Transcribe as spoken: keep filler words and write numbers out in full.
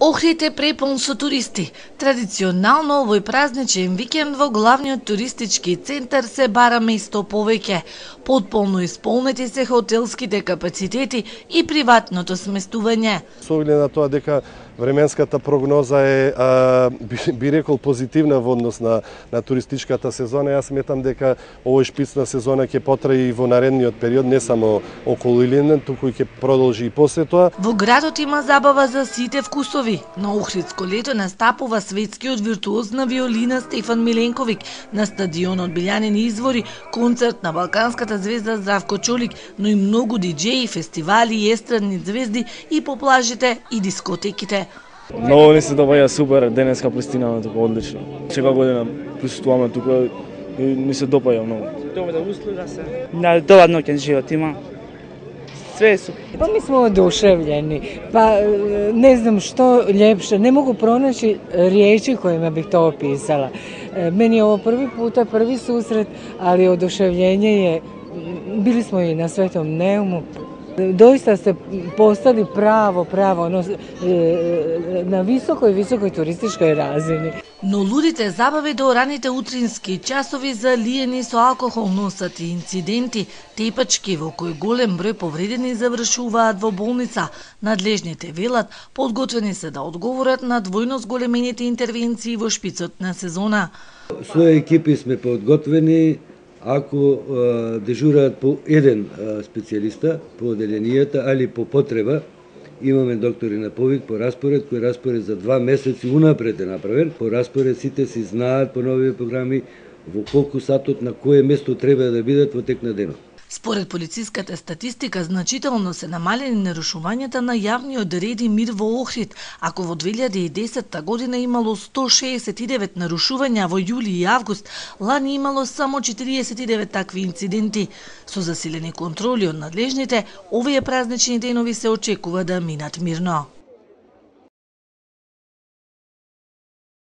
Охрид е препун со туристи. Традиционално овој празничен викенд во главниот туристички центар се бара место повеќе. Потполно исполнети се хотелските капацитети и приватното сместување. Со оглед на тоа дека временската прогноза е, а, би, би рекол, позитивна во однос на, на туристичката сезона, јас сметам дека овој шпицна сезона ќе потрае и во наредниот период, не само околу Илинден, туку и ќе продолжи и после тоа. Во градот има забава за сите вкусови. На Охридско лето настапува светскиот виртуоз на виолина Стефан Миленковиќ, на стадионот Билјанини извори, концерт на балканската звезда Здравко Чолик, но и многу диџеи, фестивали и естрадни звезди и по плажите и дискотеките. Многу ни се добаја супер, денеска пристинаме тука одлично. Секоја година присуствуваме тука и ни се допаја многу. Добра услуга се. Да, добар ноќен живот има. Све е супер. Па ми смо одушевљени. Па не знам што лепше, не могу пронајти риечи којima бих тоа описала. Мени е ово први пута, први сусрет, али одушевљење е, били смо и на Светом Неуму. Доista сте постали право, право, но, на високој, високој туристичкој разини. Но лудите забави до раните утрински часови залиени со алкохол носат и инциденти, тепачки во кои голем број повредени завршуваат во болница. Надлежните велат подготвени се да одговорат на двојно зголемените интервенции во шпицот на сезона. Своји екипи сме подготвени. Ако а, дежураат по еден а, специјалиста по оделенијата, али по потреба, имаме доктори на повик по распоред, кој распоред за два месеци унапред е направен. По распоред сите си знаат по нови програми во колку сатот на кое место треба да бидат во тек на денот. Според полициската статистика, значително се намалени нарушувањата на јавниот ред и мир во Охрид, ако во две илјади и десетта година имало сто шеесет и девет нарушувања, во јули и август, лани имало само четириесет и девет такви инциденти. Со засилени контроли од надлежните, овие празнични денови се очекува да минат мирно.